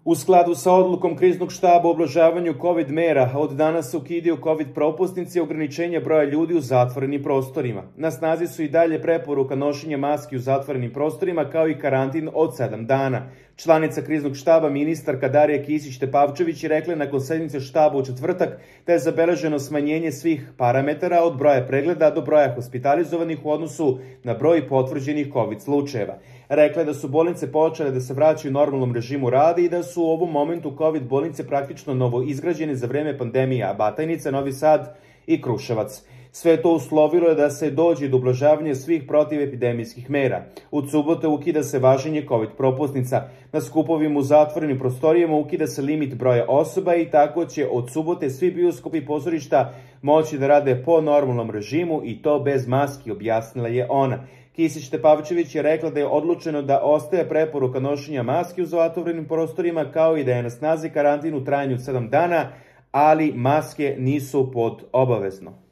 U skladu sa odlukom kriznog štaba o ublažavanju COVID mera, od danas se ukidaju COVID propusnice i ograničenja broja ljudi u zatvorenim prostorima. Na snazi su i dalje preporuka nošenja maski u zatvorenim prostorima, kao i karantin od 7 dana. Članica kriznog štaba, ministarka Darija Kisić-Tepavčević, je rekla nakon sednice štaba u četvrtak da je zabeleženo smanjenje svih parametara od broja pregleda do broja hospitalizovanih u odnosu na broj potvrđenih COVID slučajeva. Rekla je da su bolnice počele da se vraćaju normalnom režimu rada i da su u ovom momentu COVID bolnice praktično novo izgrađene za vreme pandemije, Batajnica, Novi Sad i Kruševac. Sve to uslovilo je da se dođe do ublažavanja svih protivepidemijskih mera. Od subote ukida se važenje COVID propusnica. Na skupovima u zatvorenim prostorijama ukida se limit broja osoba i tako će od subote svi bioskopi i pozorišta moći da rade po normalnom režimu i to bez maski, objasnila je ona. Kisić-Tepavčević je rekla da je odlučeno da ostaje preporuka nošenja maski u zatvorenim prostorima, kao i da je na snazi karantin u trajanju 7 dana, ali maske nisu pod obavezno.